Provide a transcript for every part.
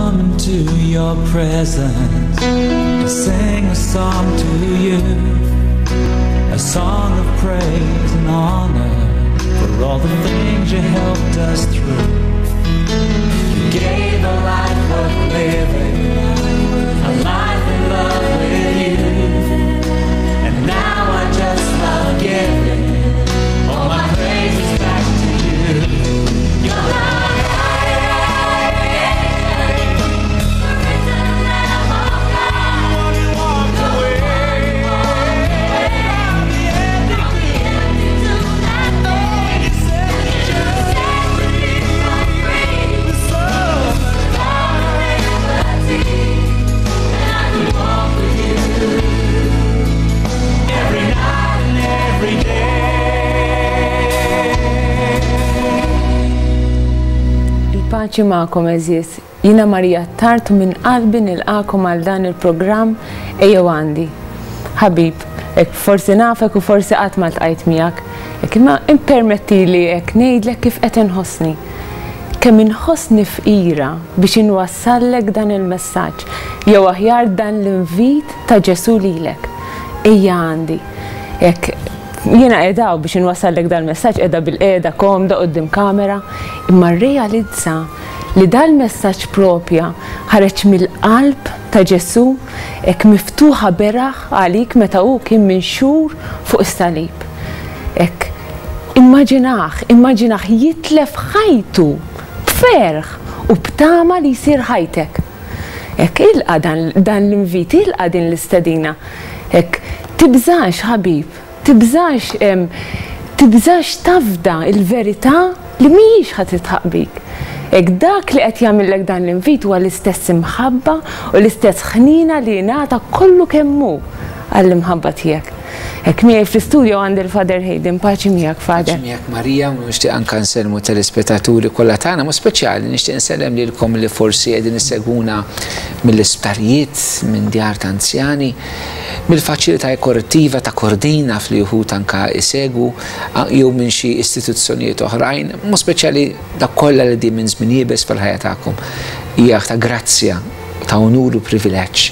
come into your presence to sing a song to you, a song of praise and honor for all the things you helped us through. You gave a life worth living, a life in love with you, and now I just love giving all my praises back to you. You're the Every night and every day. Il-paċi magħkom għeżież. Jiena Maria Attard u minn qalbi nilqagħkom għal dan il-programm Ejjew Għandi. Ħabib, hekk forsi nafek u forsi qatt ma ltqajt miegħek, hekk imma ippermettili hekk ngħidlek kif qed inħossni. Kemm inħossni fqira biex inwassallek dan il-messaġġ, jew aħjar dan l-invit ta' Ġesù lilek. Ejja għandi. Hekk jiena qiegħda hawn biex inwassallek dal-messaġġ, qiegħda bilqiegħda komda quddiem kamera, imma rrealizza li dal-messaġġ propja ħareġ mill-qalb ta' Ġesù hekk miftuħa beraħ għalik meta hu kien minxur fuq is-salib. Hekk immaġinah, immaġinah jitlef ħajtu b'ferħ u b'tama li jsir ħajtek. Hekk ilqa' dan, dan l-invit, ilqa' din l-istedina. Hekk tibżax ħabib, tibżax tibżax tafda l-verità li mhijiex ħa titħaq bik. Hekk dak li qed jagħmillek dan l-invit huwa l-istess imħabba u l-istess ħniena li ngħata kollu kemm hu għall-imħabba tiegħek. Hekk miegħi fl-istudio għandi l-Father Hayden, paċi miegħek Father. Paċi miegħek Marija, u nixtieq anke nsellmu telespettaturi kollha tagħna, mod speċjali nixtieq nsellem lilkom li forsi qegħdin issegwuna mill-isptarijiet, minn djar ta' anzjani, mill-faċilità korrettiva ta' Kordin naf li wħud anke isegwu, jew minn xi istituzzjonijiet oħrajn, mod speċjali dak kollha li qegħdin minn żmien iebes fil-ħajja tagħkom. Hija ta' grazzja, ta' unur u privileġġ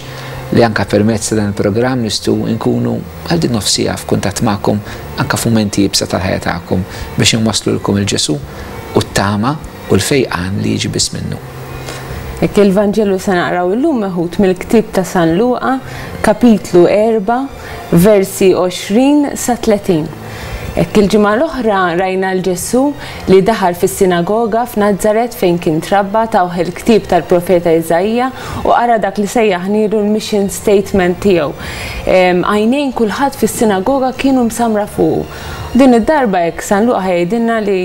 li anke permezz ta' dan il-programm nistgħu nkunu għal din nofs siegħa f'kuntatt magħkom anke f'mumenti iebsa tal-ħajja tagħkom biex inwasslulkom il-Ġesù u t-tama u l-fejqan li jiġi biss minnu. Hekk il-Vanġelu se naqraw illum meħud mill-ktieb ta' San Luqa, kapitlu 4, versi 20 sa 30. Hekk il-ġimgħa l-oħra rajna 'l Ġesù li daħal fis-sinagoga f'Nazaret fejn kien trabba, tawh il-ktieb tal-profeta Iżaija u qara dak li sejjaħnielu l-mission statement tiegħu. Għajnejn kulħadd fis-sinagoga kienu msammra fuqu. Din id-darba hekk San Luqa ħa jgħidilna li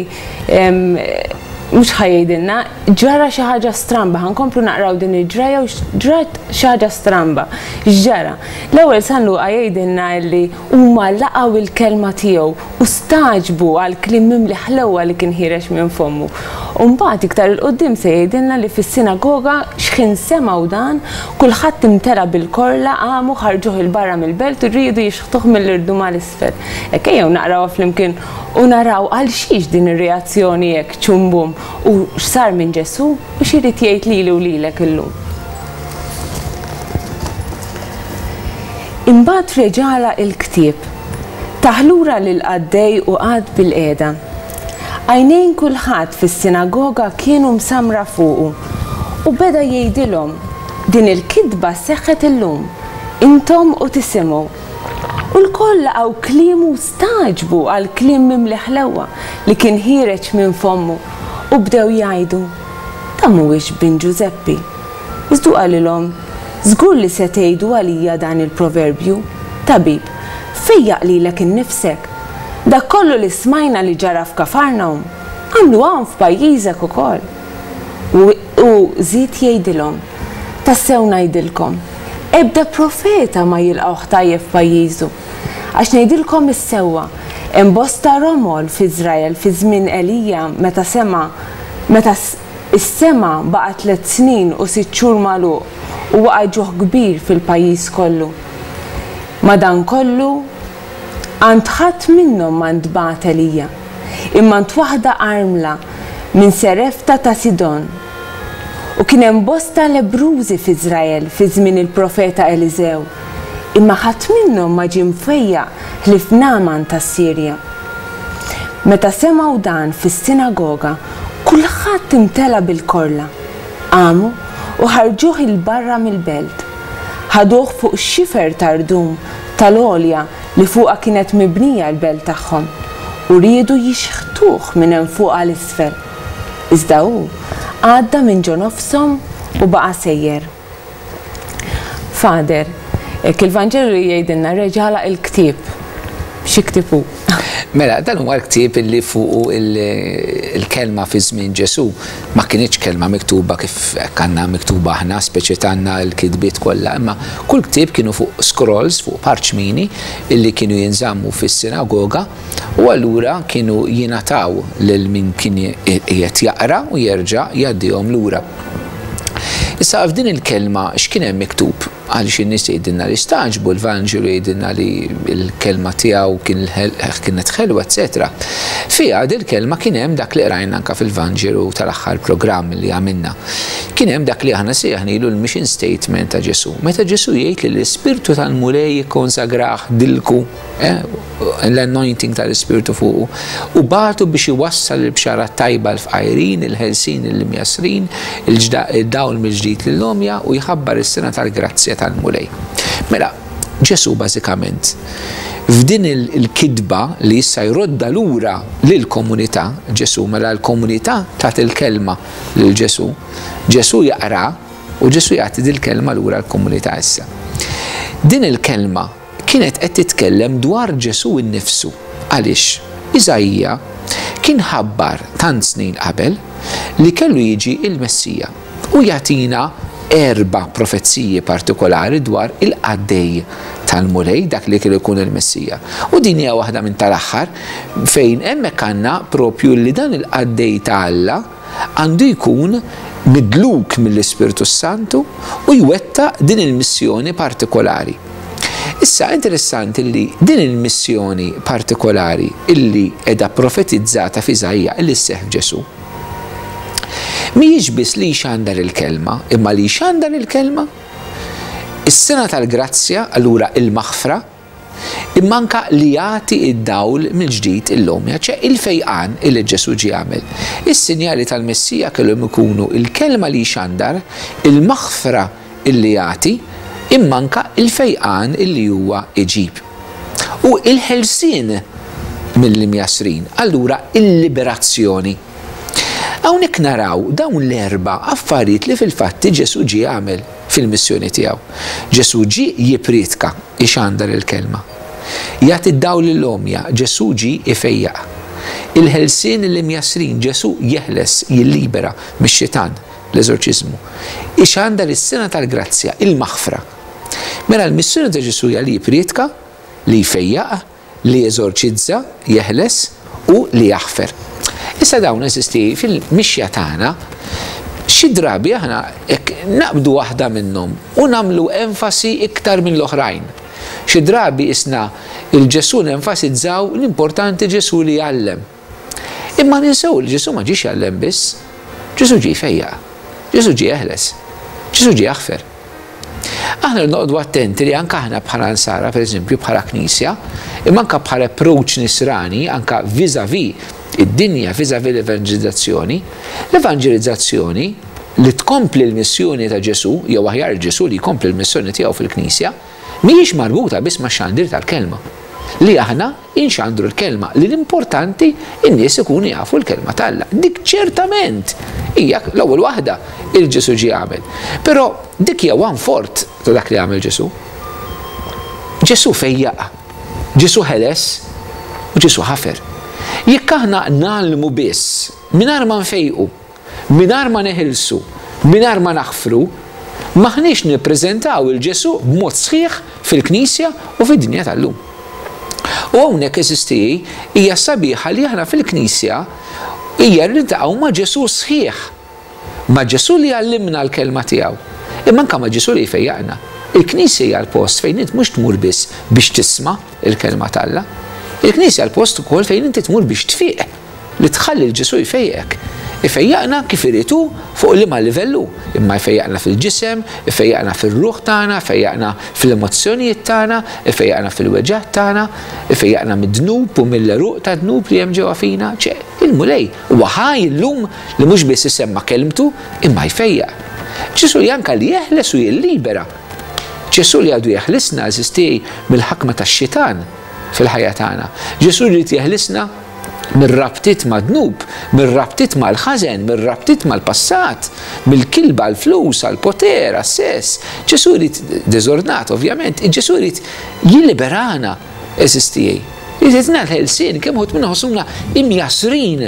mhux ħa jgħidilna, ġara xi ħaġa stramba, ħa nkomplu naqraw din il-ġrajja u ġrat xi ħaġa stramba. X'ġara? L-ewwel San Luqa jgħidilna li Huma laqgħu l-kelma tiegħu u stagħġbu għall-kliem mimli ħlewwa li kien ħiereġ minn fommu. U mbagħad iktar 'il quddiem se jgħidilna li fis-sinagoga x'ħin semgħu dan, kulħadd imtela bil-korla, qamu, ħarġuh 'il barra mill-belt u riedu jixħtuh mill-irdum għal isfel. Hekk ejjew naqrawha flimkien u naraw għal xiex din ir-reazzjoni hekk ċumbum u x'sar minn Ġesù u x'irid jgħid lili u lilek illum. Imbagħad reġa' għalaq il-ktieb, tah lura lill-qaddej u qagħad bilqiegħda. Għajnejn kulħadd fis-sinagoga kienu msammra fuqu, u beda jgħidilhom, Din il-kitba seħħet illum, intom u tisimgħu. U lkoll laqgħu kliemu u stagħġbu għall-kliem mimli ħlewwa li kien ħiereġ minn fommu, u bdew jgħidu, Dan mhuwiex bin Ġużeppi? Iżda hu qalilhom, Żgur li se tgħidu għalija dan il-proverbju, 'Tabib, fejjaq lilek innifsek. Dak kollu li smajna li ġara f'Kafarnahum, agħmlu hawn f'pajjiżek ukoll. U hu żied jgħidilhom, Tassew ngħidilkom, ebda profeta ma jilqgħuh tajjeb f'pajjiżu. Għax ngħidilkom is-sewwa, hemm bosta romol f'Iżrael fi żmien Elija meta sema' meta Is-sema baqa' tlett snin u sitt xhur magħluq u waqa' ġuħ kbir fil-pajjiż kollu. Madankollu, għand ħadd minnhom ma ntbagħat Elija, imma għand waħda armla minn Serefta ta' Sidon. U kien hemm bosta lebbrużi f'Iżrael fi żmien il-profeta Eliżew, imma ħadd minnhom ma ġie mfejjaq ħlief Nagħman tas-Sirja. Meta semgħu dan fis-sinagoga, kulħadd imtela bil-korla. Qamu u ħarġuh 'il barra mill-belt. Ħaduh fuq xifer ta' rdum tal-għolja li fuqha kienet mibnija l-belt tagħhom, u riedu jixħtuh minn hemm fuq għal isfel. Iżda hu għadda minn ġo nofshom u baqa' sejjer. Father, hekk il-Vanġelu li jgħidilna reġa' għalaq il-ktieb. Xi ktieb hu? Mela, dan huwa l-ktieb illi fuqu il-kelma fi żmien Ġesù ma kinitx kelma miktuba kif hekk għandna miktuba aħna, speċi tagħna l-kitbiet kollha, imma kull ktieb kienu fuq scrolls, fuq parċmini illi kienu jinżammu fis-sinagoga u allura kienu jingħataw lil min kien qiegħed jaqra u jerġa' jgħaddihom lura. Issa f'din il-kelma x'kien hemm miktub? Għaliex in-nies jgħidilna li stagħġbu, l-Vanġelu jgħidilna li l-kelma tiegħu kienet ħelwa, eċetera. Fiha dil-kelma kien hemm dak li qrajna anka fil-Vanġelu tal-aħħar programm li għamilna. Kien hemm dak li aħna sejjaħnilu l-mission statement ta' Ġesù. Meta Ġesù jgħid li l-Ispirtu tal-Mulej ikkonsagrah dilku, l-anointing tal-Ispirtu fuqu, u bagħtu biex iwassal il-bxara tajba l-fqajrin, il-ħelsin lill-imjassrin, il-dawl mill-ġdid lill-għomja u jħabbar is-sena tal-grazzja tal-Mulej. Mela, Ġesù bażikament f'din il-kitba li issa jrodda lura lill-komunità, Ġesù, mela l-komunità tat il-kelma lil Ġesù, Ġesù jaqra u Ġesù jagħti dil-kelma lura l-komunità issa. Din il-kelma kienet qed titkellem dwar Ġesù nnifsu. Għaliex? Iżaija kien ħabbar tant snin qabel li kellu jiġi l-Messija u jagħtina erba' profeziji partikolari dwar il-qaddej tal-Mulej, dak li kellu jkun il-Messija. U din hija waħda minn tal-aħħar fejn hemmhekk għandna propju li dan il-qaddej ta' Alla għandu jkun midluk mill-Ispirtu s-Santu u jwettaq din il-missjoni partikolari. Issa interessanti li din il-missjoni partikolari illi qiegħda profetizzata f'Iżaija illi sseħħ f'Ġesù, mhijiex biss li jxandar il-kelma, imma li jxandar il-kelma, is-sena tal-grazzja, allura il-maħfra, imma anke li jagħti d-dawl mill-ġdid illum, ċe il-fejqan illi Ġesù ġie jagħmel. Is-sinjali tal-Messija kellhom ikunu l-kelma li jxandar, il-maħfra illi jagħti, imma anke il-fejqan illi huwa jġib. U il-ħelsien mill-imjassrin, allura il-liberazzjoni. Hawnhekk naraw dawn l-erba' affarijiet li fil-fatti Ġesù ġie jagħmel fil-missjoni tiegħu. Ġesù ġie jippriedka, ixandar il-kelma. Jagħti d-dawl lill-għomja, Ġesù ġie ifejjaq. Il-ħelsien lill-imjassrin, Ġesù jeħles, jillibera mix-xitan, l-eżorċiżmu. Ixandar is-sena tal-grazzja, il-maħfra. Mela l-missjoni ta' Ġesù hija li jippriedka, li jfejjaq, li jeżorċizza, jeħles, u li jaħfer. Issa dawn eżisti fil-mixja tagħna xi drabi aħna hekk naqbdu waħda minnhom u nagħmlu enfasi iktar minn l-oħrajn. Xi drabi isna il-Ġesù nenfasizzaw l-importanti Ġesù li jgħallem. Imma ninsew li Ġesù ma ġiex jgħallem biss. Ġesù ġie jfejjaq. Ġesù ġie jeħles. Ġesù ġie jaħfer. Aħna noqogħdu attenti li anke aħna bħala Nsara, pereżempju, bħala Knisja, imma anke bħala approach nisrani, anke vis-à-vis id-dinja, vis-à-vis l-evanġelizzazzjoni, l-evanġelizzazzjoni li tkompli l-missjoni ta' Ġesù, jew aħjar Ġesù li jkompli l-missjoni tiegħu fil-Knisja, mhijiex marbuta biss max-xandir tal-kelma. Li aħna inxandru l-kelma, li l-importanti n-nies ikunu jafu l-kelma t'Alla. Dik ċertament hija l-ewwel waħda il Ġesù ġie għamel. Però dik hija one fourth ta' dak li għamel Ġesù. Ġesù fejjaq, Ġesù ħeles u Ġesù ħafer. Jekk aħna ngħallmu biss mingħajr ma nfejqu, Mingħajr ma neħilsu, mingħajr ma naħfru, m'aħniex nippreżentaw 'il Ġesù b'mod sħiħ fil-Knisja u fid-dinja tal-lum. U hawnhekk, għeżież tiegħi, hija sabiħa li aħna fil-Knisja hija li niltaqgħu ma' Ġesù sħiħ. Ma' Ġesù li jgħallimna l-Kelma tiegħu, imma anke ma' Ġesù li jfejjaqna. Il-Knisja hija l-post fejn int mhux tmur biss biex tisma' l-Kelma t'Alla. Il-Knisja l-post ukoll fejn inti tmur biex tfiq. Li tħalli 'l Ġesù jfejqek. Ifejjaqna kif irid hu fuq liema livell hu, imma jfejjaqna fil-ġisem, ifejjaqna fir-ruħ tagħna, ifejjaqna fl-emozzjonijiet tagħna, ifejjaqna fil-weġgħat tagħna, ifejjaqna mid-dnub u mill-għeruq tad-dnub li hemm ġewwa fina. Ċe, il-Mulej huwa ħaj illum li mhux biss isemma' kelmtu imma jfejjaq. Ġesù li anke li jeħles u jillibera. Ġesù li għadu jeħlisna, għeżież tiegħi, mill-ħakma tax-xitan fil-ħajja tagħna. Ġesù jrid jeħlisna mir-rabtiet mad-dnub, mir-rabtiet mal-ħażen, mir-rabtiet mal-passat, mill-kilba għall-flus, għall-poter, għas-sess. Ġesù jrid, diżordnat ovvjament, Ġesù jrid jilliberana, għeżież tiegħi. Jrid jagħtina l-ħelsien, kemm uħud minna ħossuna imjassrin.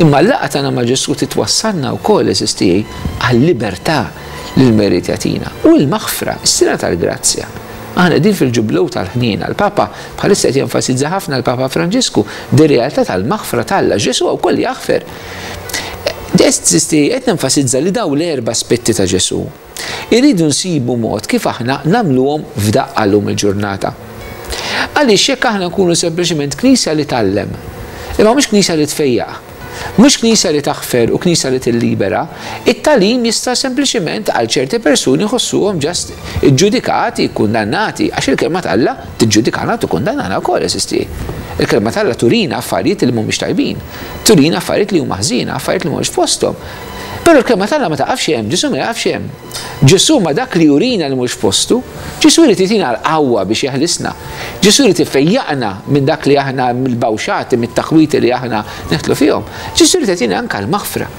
Imma l-laqgħa tagħna ma' Ġesù titwassalna wkoll, għeżież tiegħi, għal-libertà li l-Mulej irid jagħtina. U l-maħfra, is-sena tal-grazzja. Aħna qegħdin fil-Ġublew tal-Ħniena. Il-Papa bħalissa qed jenfasizza ħafna l-Papa Franġisku dir-realtà tal-maħfra t'Alla. Ġesù wkoll jaħfer. Qed nenfasizza li dawn l-erba' aspetti ta' Ġesù irridu nsibu mod kif aħna nagħmluhom f'daqqa llum il-ġurnata. Għaliex jekk aħna nkunu sempliċement knisja li tgħallem, imma mhux knisja li tfejjaq, Mhux Knisja li taħfer u Knisja li tillibera, it-tagħlim jista' sempliċiment għal ċerti persuni jħossuhom just iġġudikati, kkundannati, għax il-Kelma t'Alla tiġġudikana u tikkundannana wkoll, eżisti. Il-Kelma t'Alla turina affarijiet li mhumiex tajbin, turina affarijiet li huma ħżiena, affarijiet li mhumiex f'posthom. Però l-Kelma t'Alla ma taqafx hemm, Ġesù ma jaqafx hemm. Ġesù ma dak li jurina li mhux f'postu, Ġesù jrid jtina l-qawwa biex jeħlisna. Ġesù jrid ifejjaqna minn dak li aħna mill-bawxati, mit-taħwiti li aħna neħtlu fihom. Ġesù jrid jagħtina anke l-maħfra.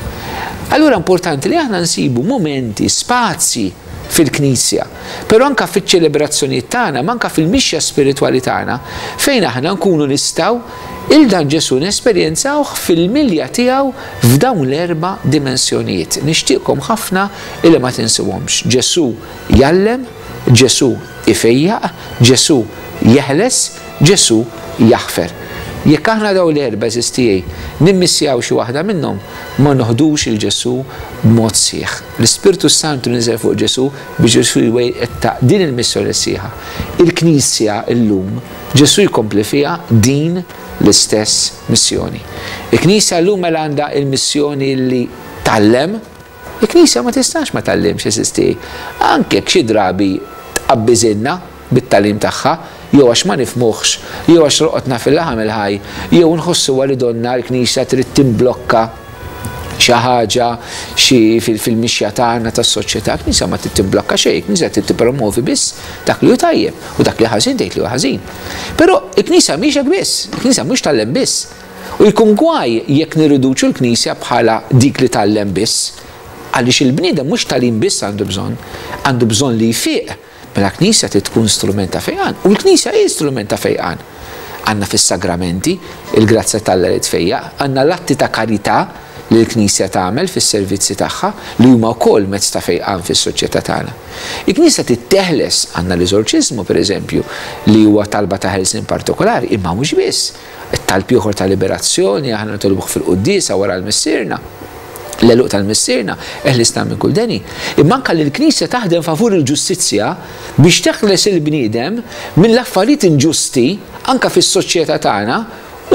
Allura importanti li aħna nsibu mumenti, spazji fil-Knisja, però anke fiċ-ċelebrazzjonijiet tagħna, ma anke fil-mixja spiritwali tagħna, fejn aħna nkunu nistgħu 'il dan Ġesù nesperjenzawh fil-milja tiegħu f'dawn l-erba' dimensjonijiet. Nixtieqkom ħafna illi ma tinsewhomx. Ġesù jgħallem, Ġesù ifejjaq, Ġesù jeħles, Ġesù jaħfer. Jekk aħna dawn l-erba' għeżież tiegħi nimmissjaw xi waħda minnhom, ma noħdux 'il Ġesù b'mod sħiħ. L-Ispirtu s-Santu niżel fuq Ġesù biex Ġesù jwettaq din il-missjoni sħiħa. Il-Knisja llum, Ġesù jkompli fiha din l-istess missjoni. Il-Knisja llum mela għandha l-missjoni li tgħallem. Il-Knisja ma tistax ma tgħallimx, għeżież tiegħi, anke jekk xi drabi tqabbiżilna bit-tagħlim tagħha, jew għax ma nifhmuhx, jew għax roqotna fil-laħam il-ħaj, jew nħossuha li donnha l-Knisja trid timblokka xi ħaġa xi fil-mixja tagħna tas-soċjetà. Il-Knisja ma trid timblokka xejn, il-Knisja trid tippromovi biss dak li hu tajjeb u dak li ħażin tgħid li hu ħażin. Però il-Knisja mhix hekk biss, il-Knisja mhux tgħallem biss. U jkun gwaj jekk nirriduċu l-Knisja bħala dik li tgħallem biss. Għaliex il-bniedem mhux tagħlim biss għandu bżonn, għandu bżonn li jfiq. Mela l-Knisja trid tkun strument ta' fejqan. U l-Knisja hi strument ta' fejqan. Għandna fis-sagramenti il-grazzja t'Alla li tfejjaq, għandna l-atti ta' karità li l-Knisja tagħmel fis-servizzi tagħha li huma wkoll mezz ta' fejqan fis-soċjetà tagħna. Il-Knisja trid teħles, għandna l-eżorċiżmu pereżempju li huwa talba ta' ħelsien partikolari, imma mhux biss. It-talb ieħor ta' liberazzjoni aħna nitolbuh fil-quddiesa wara l-Missierna, l-għeluq tal-Missierna, eħlisna minn kull deni. Imma anke li l-Knisja taħdem favur il-ġustizzja biex teħles il-bniedem mill-affarijiet inġusti anke fis-soċjetà tagħna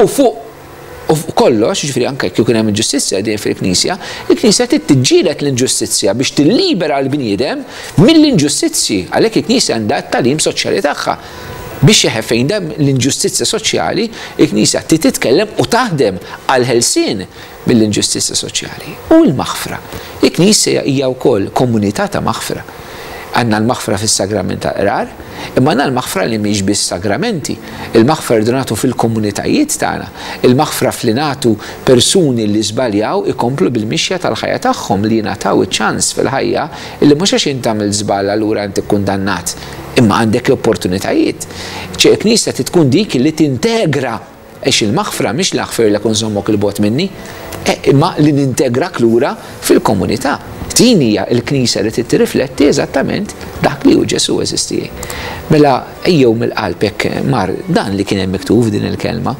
u fuq u fuq kollox, jiġifieri anke jekk ikun hemm inġustizzja dejjem fil-Knisja, il-Knisja trid tiġġieled l-inġustizzja biex tillibera l-bniedem mill-inġustizzji. Għalhekk il-Knisja għandha t-tagħlim soċjali tagħha. Biex jeħe fejn hemm l-inġustizzja soċjali, il-Knisja trid titkellem u taħdem għall-ħelsien mill-inġustizzja soċjali. U l-maħfra. Il-Knisja hija wkoll komunità ta' maħfra. Għandna l-maħfra fis-sagrament tal-qrar, imma għandna l-maħfra li mhix biss sagramenti. Il-maħfra rridu nagħtu fil-komunitajiet tagħna. Il-maħfra f'li nagħtu persuni li żbaljaw ikomplu bil-mixja tal-ħajja tagħhom, li jingħataw iċ-ċans fil-ħajja illi mhux għax int għamilt żball allura int ikkundannat. Imma għandek l-opportunitajiet. Ċe il-Knisja trid tkun dik li tintegra għax il-maħfra mhix li naħfirlek u nżommok 'il bogħod minni, imma li nintegrak lura fil-komunità. Din hija l-Knisja li trid tirrifletti eżattament dak li hu Ġesù, għeżież tiegħi. Mela ejjew mill-qalb hekk mar dan li kien hemm miktub f'din il-kelma.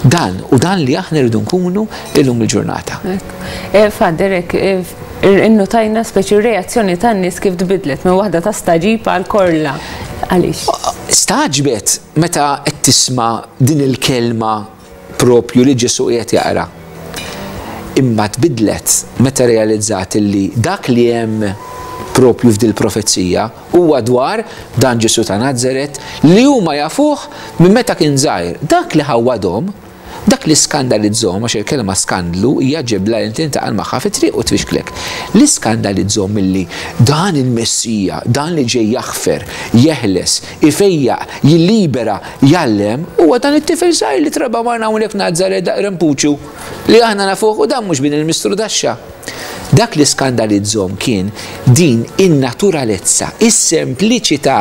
Dan u dan li aħna rridu nkunu illum il-ġurnata. Father, hekk Innutajna speċi r-reazzjoni tan-nies kif tbiddlet minn waħda ta' stagħġib għal korla. Għaliex? Stagħġbet meta qed tisma' din il-kelma propju li Ġesù qiegħed jaqra. Imma tbiddlet meta realizzat li dak li hemm propju f'dil-profezija huwa dwar dan Ġesù ta' Nazaret li huma jafuh minn meta kien żgħir. Dak li ħawwadhom, dak li skandalizzhom, għax il-kelma skandlu hija ġebla li tintaqa' magħha fit-triq u tfixklek. Li skandalizzhom milli dan il-Messija, dan li ġej jaħfer, jeħles, ifejjaq, jillibera, jgħallem, huwa dan it-tifel żgħir li trabba magħna hawnhekk f'Nazaret daqq rempuċu, li aħna nafuh u dan mhux bin il-mistru daxxa. Dak li skandalizzhom kien din in-naturalezza, is-sempliċità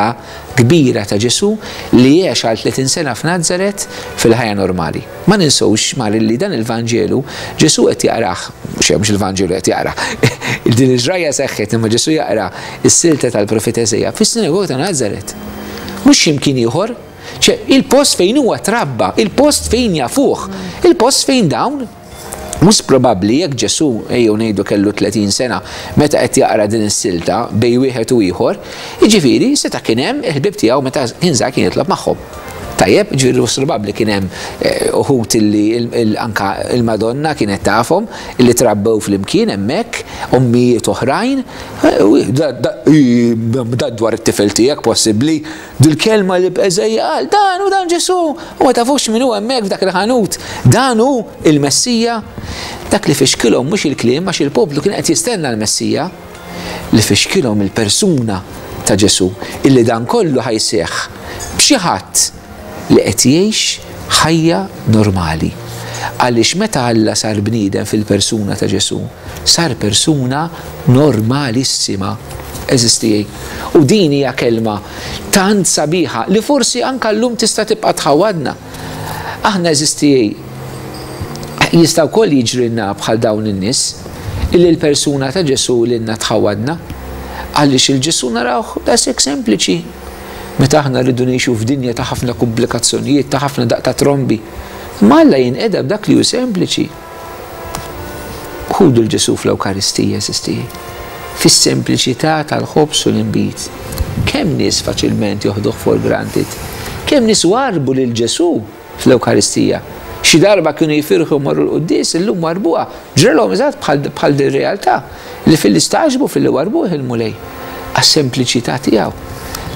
kbira ta' Ġesù li għex għal 30 sena f'Nazaret fil-ħajja normali. Ma ninsewx, Mari, li dan il-Vanġelu Ġesù qed jaqrah, mhux mhux il-Vanġelu qed jaqra, din il-ġrajja seħħet imma Ġesù jaqra s-silta tal-profeta Eżeja fis-sinagoga ta' Nazaret. Mhux xi mkien ieħor, ċe il-post fejn huwa trabba, il-post fejn jafuh, il-post fejn dawn Mhux probabbli jekk Ġesù, ejjew ngħidu kellu 30 sena meta qed jaqra din is-silta bejn wieħed u ieħor, jiġifieri seta' kien hemm il-ħbieb tiegħu meta kien żgħir kien jitlob magħhom. Tajjeb, jiġifieri mhux probabbli kien hemm eh, uħud illi anka il-Madonna kienet tafhom illi trabbew flimkien hemmhekk, ommijiet oħrajn, eh, da dwar it-tifel tiegħek possibbli Dil-kelma li b'Eżeja qal, dan hu dan Ġesù, u ma tafux min hu hemmhekk f'dak il-ħanut, dan hu il-Messija. Dak li fixkilhom mhux il-kliem għax il-poplu kien qed jistenna l-Messija, li fixkilhom il-persuna ta' Ġesù, illi dan kollu ħa jseħħ b'xi ħadd li qed jgħix ħajja normali. Għaliex meta Alla sar bniedem fil-persuna ta' Ġesù, sar persuna normalissima. Għeżież tiegħi. U din hija kelma tant sabiħa li forsi anke llum tista' tibqa' tħawwadna. Aħna għeżież tiegħi jista' wkoll jiġrilna bħal dawn in-nies illi l-persuna ta' Ġesù lilna tħawwadna. Għaliex il-Ġesù narawh daqshekk sempliċi. Meta aħna rridu ngħixu f'dinja ta' ħafna kumplikazzjonijiet, ta' ħafna daqq ta' trombi. Imma Alla jinqeda b'dak li hu sempliċi. Ħudu 'l Ġesù fl-Ewkaristija, għeżież tiegħi, fis-sempliċità tal-ħobż u l-inbid. Kemm nies faċilment joħduh for granted. Kemm nies warrbu lil Ġesù fl-Ewkaristija. Xi darba kienu jifirħu jmorru l-quddies, illum warrbuha. Ġralhom eżatt bħal din realtà li filli stagħġbu filli warrbuh il-Mulej għas-sempliċità tiegħu.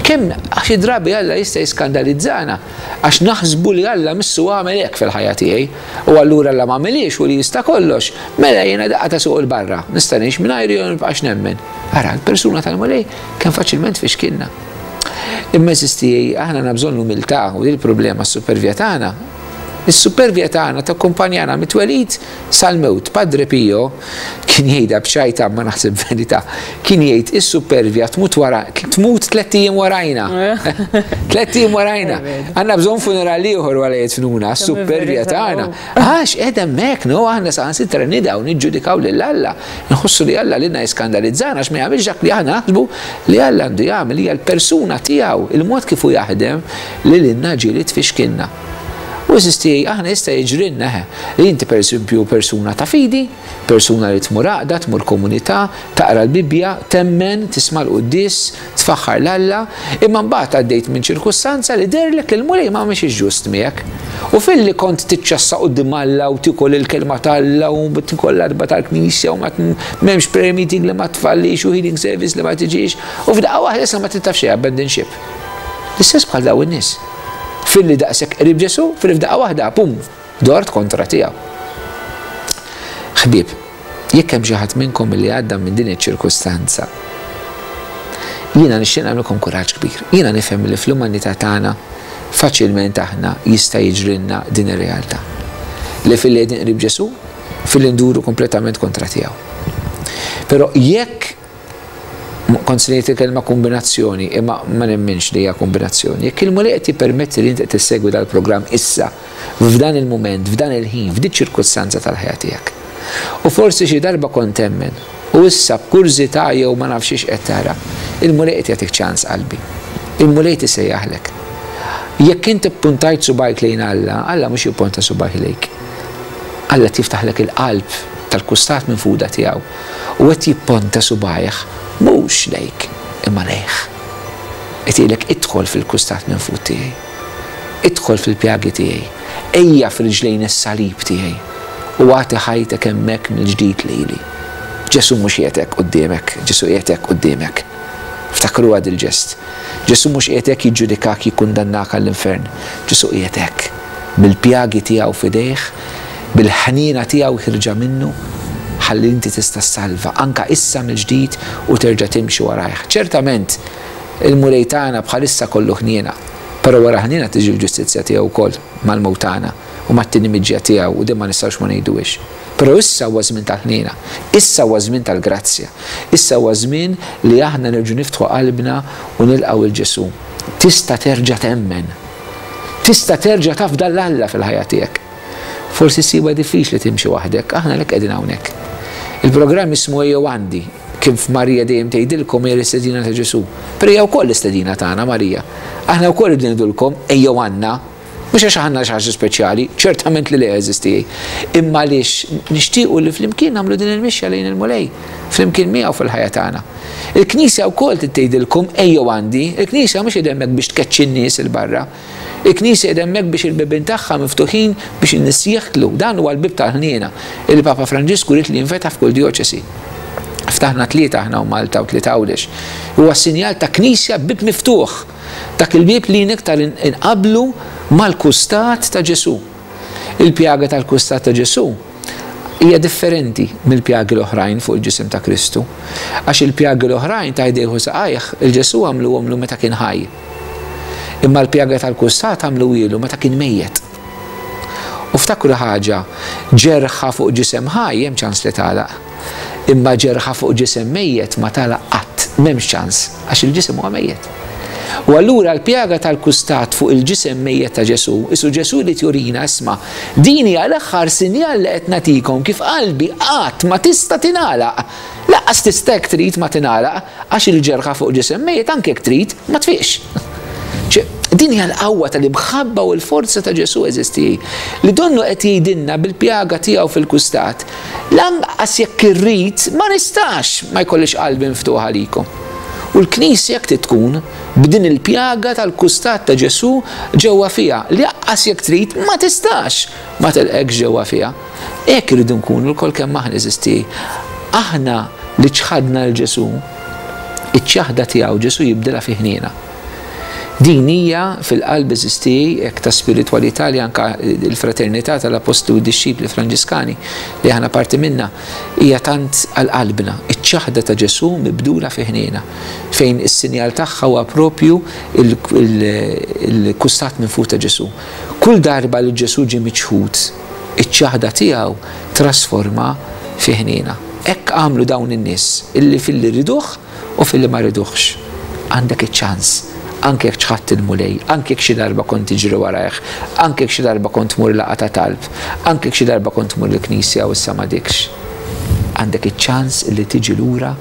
Kemm xi drabi Alla jista' jiskandalizzana Għax naħsbu li Alla missu għamel hekk fil-ħajja tiegħi, u allura Alla m'għamilhiex u li jista' kollox, mela jiena daqqa ta' suq 'il barra, nista' ngħix mingħajru jew nibqax nemmen. Ara, l-persuna tal-Mulej kemm faċilment tfixkilna. Imma għeżież tiegħi, aħna għandna bżonn l-umiltà u din il-problema s-supervja tagħna. Is-supervja tagħna takkumpanjana mit-twelid Sal-mewt, Padre Pio kien jgħidha b'ċajta imma naħseb verità, kien jgħid is-supervja tmut wara, tmut tlett ijiem warajna. Tlett ijiem warajna. Għandna bżonn funeral ieħor wara jidfnuna, s-supervja tagħna. Għax qiegħda hemmhekk, no, aħna saħansitra nidgħu niġġudikaw lil Alla. Nħossu li Alla lilna jiskandalizzana għax ma jagħmilx dak li aħna naħsbu li Alla għandu jagħmel, hija l-persuna tiegħu, il-mod kif hu jaħdem li lilna ġieli tfixkilna. U għeżież tiegħi, aħna jista' jiġrilna, eħe, li inti pereżempju persuna ta' fidi, persuna li tmur għaqda, tmur komunità, taqra l-Bibbja, temmen, tisma' l-quddies, tfaħħar 'l Alla, imma mbagħad għaddejt minn ċirkustanza li dehrlek li l-Mulej ma mexiex ġust miegħek. U filli kont tiċċassa quddiem Alla u tiekol il-kelma t'Alla u tiekol l-għatba tal-knisja u ma m'hemmx prayer meeting li ma tfallix u healing service li ma tiġix, u f'daqqa waħda issa ma trid taf xejn abandon ship. L-istess bħal dawn in-nies. Filli daqshekk qrib Ġesù, filli f'daqqa waħda, pum, dort kontra tiegħu. Ħbieb, jekk hemm xi ħadd minnkom li għadda minn din iċ-ċirkustanza, jiena nixtieq nagħmilkom kuraġġ kbir. Jiena nifhem li fl-umanità tagħna faċilment aħna jista' jiġrilna din ir-realtà. Li filli qegħdin qrib Ġesù, filli nduru kompletament kontra tiegħu. Però jekk Kont se ngħid il-kelma kombinazzjoni, imma ma nemminx li hija kombinazzjoni. Jekk il-Mulej qed jippermetti li inti qed issegwi dal-programm issa, f'dan il-mument, f'dan il-ħin, f'dik ċirkustanza tal-ħajja tiegħek. U forsi xi darba kont temmen, u issa b'kurżità jew ma nafx xiex qed tara, il-Mulej qed jagħtik ċans qalbi. Il-Mulej qed isejjaħlek. Jekk inti ppuntajt subgħajk lejn Alla, Alla mhux jipponta subgħajh lejk. Alla qed jiftaħlek il-qalb tal-kustat minfuda tiegħu. U qed jipponta subgħajh mhux lejk imma lejh. Qed jgħidlek idħol fil-kustat minfud tiegħi. Idħol fil-pjagi tiegħi. Ejja f'riġlejn is-salib tiegħi. u agħti ħajtek hemmhekk mill-ġdid lili. Ġesù mhux qiegħed hekk quddiemek, Ġesù qiegħed hekk quddiemek. Ftakruha dil-ġest. Ġesù mhux qiegħed hekk jiġġudikak, jikkundannak għall-infern. Ġesù qiegħed hekk, bil-pjagi tiegħu f'idejh, bil-ħniena tiegħu ħierġa minnu, ħalli inti tista' ssalva, anke issa mill-ġdid u terġa' timxi warajh. Ċertament, il-Mulej tagħna bħalissa kollu ħniena, però wara l-ħniena tiġi l-ġustizzja tiegħu wkoll mal-mewt tagħna u mat-tieni miġja tiegħu u din ma nistgħux ma ngħiduhiex. Però issa huwa żmien tal-ħniena, issa huwa żmien tal-grazzja, issa huwa żmien li aħna nerġgħu niftħu qalbna u nilqgħu 'l Ġesù. Tista' terġa' temmen. Tista' terġa' tafda 'l Alla fil-ħajja tiegħek. Forsi ssibha diffiċli timxi waħdek, aħna għalhekk qegħdin hawnhekk. Il-programm jismu Ejjew Għandi, kif Marija dejjem tgħidilkom hija l-istedina ta' Ġesù. Però hija wkoll l-istedina tagħna Marija. Aħna wkoll irridu ngħidulkom ejjew għandna. Mhux għax aħna xi ħaġa speċjali, ċertament li le għeżież tiegħi, imma għaliex nixtiequ li flimkien nagħmlu din il-mixja lejn il-Mulej, flimkien miegħu fil-ħajja tagħna. Il-Knisja wkoll trid tgħidilkom ejjew għandi, il-Knisja mhux qiegħda hemmhekk biex tkeċċi n-nies 'il barra. Il-Knisja qiegħda hemmhekk biex il-bibien tagħha miftuħin biex in-nies jidħlu. Dan huwa l-bieb tal-ħniena li l-Papa Franġisku ried li jinfetaħ f'kull djoċesi. Ftaħna tlieta aħna hawn Malta u tlieta Għawdex. Huwa sinjal ta' Knisja b'bieb miftuħ. Dak il-bieb li iktar inqabblu mal-kustat ta' Ġesù. Il-pjaga tal-kustat ta' Ġesù hija differenti mill-pjagi l-oħrajn fuq il-ġisem ta' Kristu. Għax il-pjagi l-oħrajn ta' jdejh u saqajh, il-Ġesù għamluhomlu meta kien ħaj. Imma l-pjaga tal-kustat għamluhielu meta kien mejjet. U ftakru ħaġa, ġerħa fuq ġisem ħaj hemm ċans li tagħlaq. Imma ġerħa fuq ġisem mejjet ma tagħlaq qatt, m'hemmx ċans, għax il-ġisem huwa mejjet. U allura l-pjaga tal-kustat fuq il-ġisem mejjet ta' Ġesù, isu Ġesù jrid jurina, isma', din hija l-aħħar sinjal li qed nagħtikom kif qalbi qatt ma tista' tingħalaq. Lanqas tista' jekk trid ma tingħalaq, għax il-ġerħa fuq ġisem mejjet anke jekk trid ma tfiqx. Din hija l-qawwa tal-imħabba u l-forza ta' Ġesù għeżież tiegħi, li donnu qed jgħidilna bil-pjaga tiegħu fil-kustat, Lanqas jekk irrid ma nistax ma jkollix qalbi mftuħa għalikom. U l-Knisja hekk trid tkun, b'din il-pjaga tal-kustat ta' Ġesù ġewwa fiha, li anqas jekk trid ma tistax ma tilqekx ġewwa fiha. Hekk irridu nkunu lkoll kemm aħna għeżież tiegħi. Aħna li ċħadna 'l Ġesù, iċ-ċaħda tiegħu Ġesù jibdilha fi ħniena. Din hija fil-qalb għeżież tiegħi hekk ta' spiritwalità li anke l-fraternità tal-Appostli u d-Dixxipli Franġiskani li aħna parti minnha hija tant għal qalbna, iċ-ċaħda ta' Ġesù mibdula fi ħniena, fejn is-sinjal tagħha huwa propju l-kustat minfud ta' Ġesù. Kull darba li Ġesù ġie miċħud, iċ-ċaħda tiegħu trasforma fi ħniena. Hekk għamlu dawn in-nies illi filli riduh, U filli ma riduhx, għandek iċ-ċans, anke jekk ċħadt il-Mulej, anke jekk xi darba kont tiġri warajh, anke jekk xi darba kont tmur laqgħa ta' talb, anke jekk xi darba kont tmur il-knisja u issa m'għadikx. Għandek iċ-ċans li tiġi lura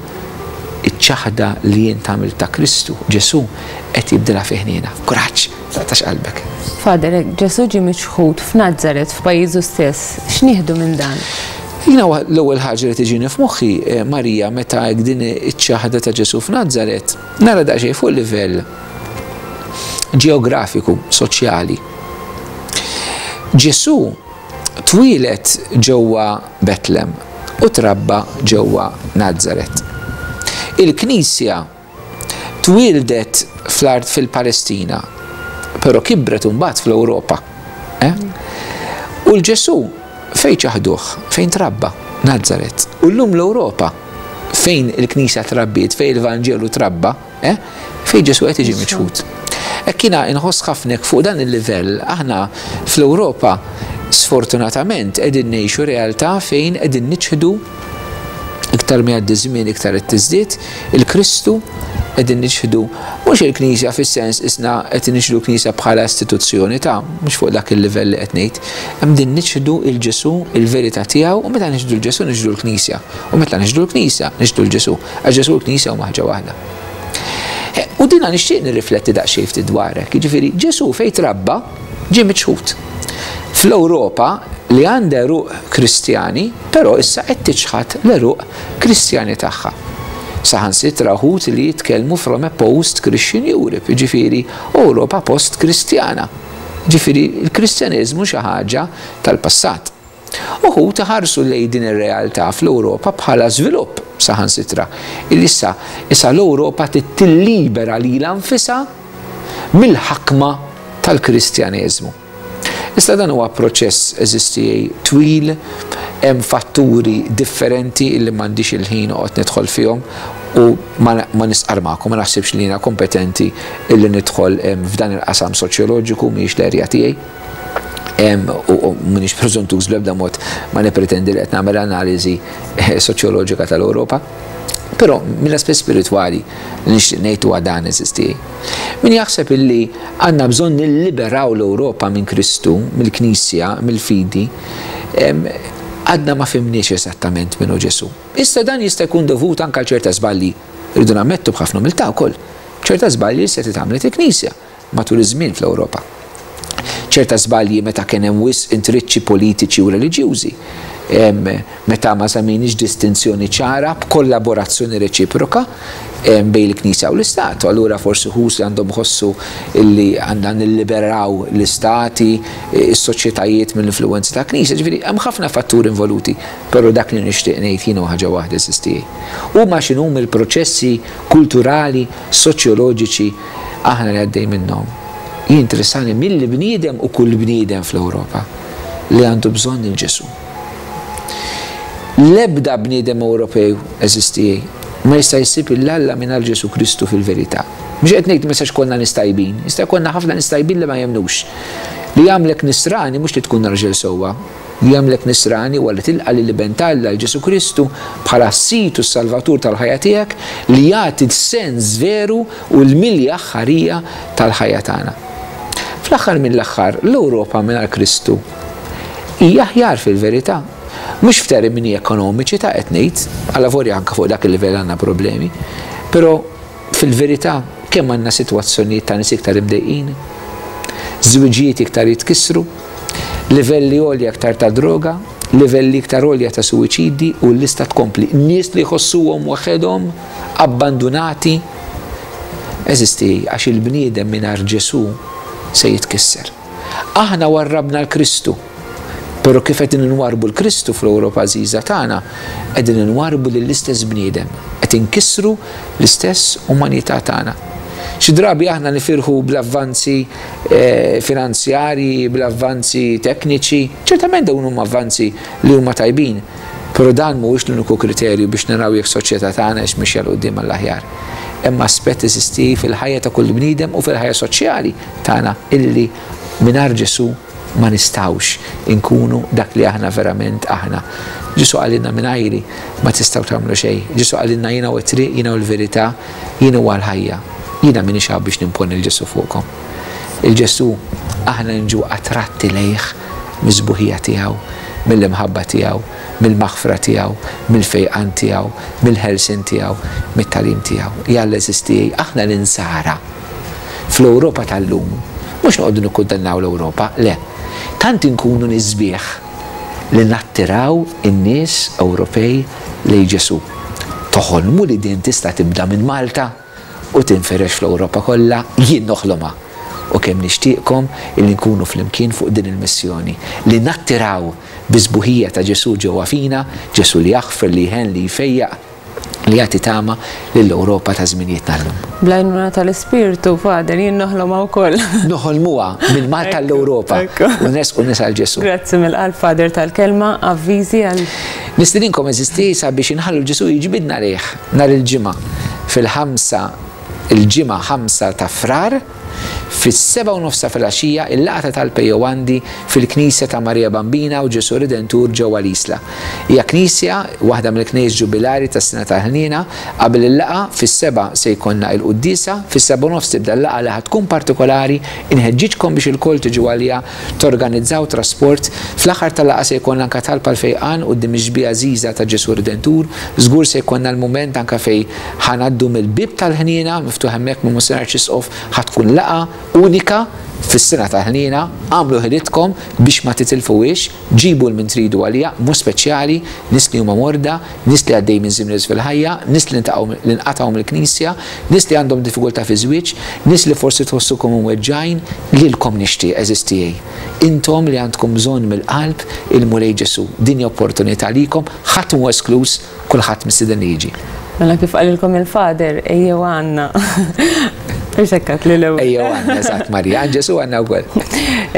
iċ-ċaħda li int għamilt ta' Kristu, Ġesù, qed jibdilha fi ħniena. Kuraġġ! Taqtax qalbek. Father, hekk Ġesù ġie miċħud f'Nazaret, f'pajjiżu stess. X'nieħdu minn dan? Jiena l-ewwel ħaġa li tiġini f'moħħi, Marija, meta hekk din iċ-ċaħda ta' Ġesù f'Nazaret, nara daqsxejn fuq livell ġeografiku, soċjali. Ġesù twieled ġewwa Betlem u trabba ġewwa Nazaret. Il-Knisja Twieldet fl-art fil-Palestina, però kibret imbagħad fl-Ewropa. Eh? U l-Ġesù fejn ċaħduh, fejn trabba, Nazaret. U llum l-Ewropa fejn il-Knisja trabbiet, fejn il-Vanġelu trabba, eh? fejn Ġesù qed jiġi miċħud. Hekk jiena inħoss ħafna fuq dan il-livell aħna fl-Ewropa sfortunatament qegħdin ngħixu realtà fejn qegħdin niċħdu Iktar ma jgħaddi żmien iktar qed tiżdied, il-Kristu qegħdin niċħdu mhux il-Knisja fis-sens isna qed niċħdu l-Knisja bħala istituzzjoni ta' mhux fuq dak il-livell li qed ngħid. Hemm din niċħdu il-Ġesù, il-verità tiegħu u meta niċħdu l-Ġesù niċħdu l-Knisja. U meta niċħdu l-Knisja, niċħdu l-Ġesù. Għax Ġesù u l-Knisja huma ħaġa waħda. U dina nixtieq nirrifletti daqsxejn ftit dwarek. Jiġifieri Ġesù fejn trabba ġie miċħud. Fl-Ewropa li għandha għeruq Kristjani, però issa qed tiċħad l-għeruq Kristjani tagħha. Saħansitra wħud li jitkellmu from a post-Christian Europe, jiġifieri Ewropa post-Kristjana. Jiġifieri l-Kristjaneżmu xi ħaġa tal-passat. Uħud iħarsu lejn din ir-realtà fl-Ewropa bħala żvilupp saħansitra, illi issa issa l-Ewropa trid tillibera lilha nfisha mill-ħakma tal-Kristjaneżmu. Issa dan huwa proċess eżisti twil, hemm fatturi differenti illi m'għandix il-ħin noqgħod nidħol fihom u ma nistqarr magħkom, ma naħsibx li jiena kompetenti illi nidħol f'dan il-qasam soċjoloġiku, mhijiex l-erja tiegħi. U m'iniex preżuntuż bl-ebda mod ma nippretendi li qed nagħmel analiżi soċjoloġika tal-Ewropa. Però mill-aspett spiritwali li nixtieq ngħid huwa dan għeżież tiegħi. Min jaħseb illi għandna bżonn nilliberaw l-Ewropa minn Kristu, mill-Knisja, mill-fidi, għadna ma fhimniex eżattament min hu Ġesù. Issa dan jista' jkun dovut anke għal ċerta żbalji, irridu nammettu b'ħafna umiltà wkoll, ċerta żbalji li setgħet għamlet il-Knisja matul iż-żmien fl-Ewropa. Ċerta żbalji meta kien hemm wisq intriċċi politiċi u reliġjużi, meta ma żammejniex distinzjoni ċara b'kollaborazzjoni reċiproka bejn il-Knisja u l-Istat. U allura forsi wħud li għandhom iħossu li għandna nilliberaw l-istati, is-soċjetajiet mill-influwenza tal-Knisja. Ġifieri hemm ħafna fatturi involuti, però dak li nixtieq ngħid jien huwa ħaġa waħda, għeżież tiegħi. Huma x'inhuma l-proċessi kulturali, soċjoloġiċi, aħna li għaddej minnhom. Jinteressani mill-bniedem u kull bniedem fl-Ewropa li għandu bżonn il Ġesù. L-ebda bniedem Ewropew għeżież tiegħi ma jista' jsib 'il Alla mingħajr Ġesù Kristu fil-verità. Mhux qed ngħid ma jistax ikollna nies tajbin, jista' jkollna ħafna nies tajbin li ma jemmnux. Li jagħmlek nisrani mhux li tkun raġel sewwa, Li jagħmlek Nisrani huwa li tilqa' lill-Iben ta' Alla, Ġesù Kristu, bħala s-Sid u s-Salvatur tal-ħajja tiegħek, li jagħti l-sens veru u l-milja aħħarija tal-ħajja tagħna. Fl-aħħar mill-aħħar, l-Ewropa mingħajr Kristu hija aħjar fil-verità. Mhux f'termini ekonomiċi ta' qed ngħid, allavolja anke fuq dak il-livell għandna problemi, però Fil-verità, kemm għandna sitwazzjonijiet ta' nies iktar imdejqin, żwiġijiet iktar jitkissru, livelli għolja iktar ta' droga, livelli iktar għolja ta' suwiċidi u l-lista tkompli. Nies li jħossuhom waħedhom, abbandunati. Eżisti għax il-bniedem mingħajr Ġesù se jitkisser. Aħna warrabna l-Kristu. Però kif qegħdin inwarrbu l-Kristu fl-Ewropa għażiża tagħna, qegħdin inwarrbu lill-istess bniedem, qed inkissru l-istess umanità tagħna. Xi drabi aħna nifirħu bl-avvanzi finanzjarji, bl-avvanzi tekniċi, ċertament dawn huma avvanzi li huma tajbin, però dan mhuwiex l-uniku kriterju biex naraw jekk soċjetà tagħna hix mixja 'l quddiem għall-aħjar. Hemm aspett eżisti fil-ħajja ta' kull bniedem u fil-ħajja soċjali tagħna illi mingħajr Ġesù ma nistgħux inkunu dak li aħna verament aħna. Ġesù qalilna mingħajri ma tistgħu tagħmlu xejn. Ġesù qalilna jiena hu t-triq, jiena hu l-verità, jien huwa l-ħajja. Jiena m'iniex hawn biex nimponi 'l Ġesù fuqkom. Il-Ġesù aħna niġu attratti lejh mis-sbuħija tiegħu, mill-imħabba tiegħu, mill-maħfra tiegħu, mill-fejqan tiegħu, mill-ħelsien tiegħu, mit-tagħlim tiegħu. Jalla għeżież tiegħi, aħna l-insara Fl-Ewropa tal-lum, mhux noqogħdu nikkundannaw l-Ewropa, le. Tant inkunu nies sbieħ li nattiraw in-nies Ewropej lejn Ġesù. Toħolmu li din tista' tibda minn Malta u tinfirex fl-Ewropa kollha? Jien noħlomha! U kemm nixtieqkom illi nkunu flimkien fuq din il-missjoni, li nattiraw bis-sbuħija ta' Ġesù ġewwa fina, Ġesù li jaħfer, li jħenn, li jfejjaq, li jagħti tama lill-Ewropa ta' żminijietna llum. Bl-għajnuna tal-Ispirtu, Father, jien noħlomha wkoll. Noħolmuha minn Malta l-Ewropa u nersqu nies għal Ġesù. Grazzi mill-qalb, Father, tal-kelma, avviżi għal. Nistedinkom għeżież tiegħi sabiex inħallu l-Ġesù jiġbidna lejh nhar il-Ġimgħa fil-ħamsa il-Ġimgħa 5 ta' Frar. Fis-sebgħa u nofs ta' filgħaxija, il-laqgħa ta' talb Ejjew Għandi fil-Knisja ta' Marija Bambina u Ġesù Redentur ġewwa l-Isla. Hija knisja, waħda mill-knejjes ġubilari tas-Sena tal-Ħniena. Qabel il-laqgħa, fis-sebgħa se jkollna il-quddiesa, fis-sebgħa u nofs tibda l-laqgħa li ħa tkun partikolari, inħeġġiġkom biex ilkoll tiġu għaliha, torganizzaw trasport. Fl-aħħar tal-laqgħa se jkollna anke talb għall-fejqan quddiem ix-xbieha għażiża ta' Ġesù Redentur. Żgur se jkollna l-mument anke fejn Ħa ngħaddu mill-bieb tal-ħniena, miftuħ hemmhekk minn Monsinjur Arċisqof, ħa tkun laqgħa unika Fis-sena tal-ħniena, agħmlu ħilitkom biex ma titilfuhiex, ġibu 'l min tridu għaliha, b'mod speċjali nies li huma morda, nies li għaddejjin minn żmien iebes fil-ħajja, nies li li nqatgħu mill-Knisja, nies li għandhom diffikultà fiż-żwieġ, nies li forsi tħossukom imweġġgħin, lilkom nixtieq, għeżież tiegħi. Intom li għandkom bżonn mill-qalb il-Mulej Ġesù. Din hi opportunità għalikom, ħadd mhu eskluż, kulħadd mistieden li jiġi. Mela kif qalilkom il-Father, ejjew għandna. Mhux hekk għedt li l-ewwel. Ejjew għandna, eżatt Marija, għand Ġesù għandna wkoll.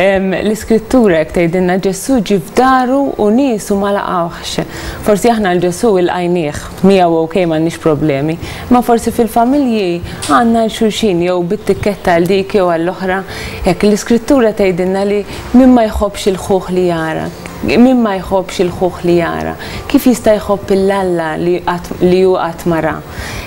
L-Iskrittura hekk tgħidilna Ġesù ġie f'daru u niesu ma laqgħuhx. Forsi aħna 'l Ġesù ilqajnieh, miegħu ok m'għandniex problemi, imma forsi fil-familji għandna 'l xulxin jew bit-tikketta għal dik jew għall-oħra. Hekk l-Iskrittura tgħidilna li min ma jħobbx il-ħuh li jara, Min ma jħobbx il-ħuh li jara, kif jista' jħobb 'il Alla li qatt li hu qatt ma ra?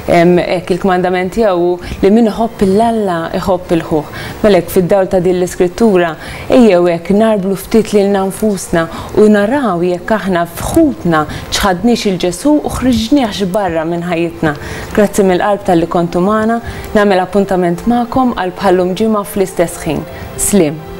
Hekk il-kmandament tiegħu hu li min iħobb 'il Alla jħobb 'il ħuh. Mela hekk fid-dawl ta' din l-iskrittura, ejjew hekk ngħarblu ftit lilna nfusna u naraw jekk aħna f'ħutna ċħadniex 'il Ġesù u ħriġniehx barra minn ħajjitna. Grazzi mill-qalb talli kontu magħna. Nagħmel appuntament magħkom għal bħal-lum ġimgħa fl-istess ħin. Sliem.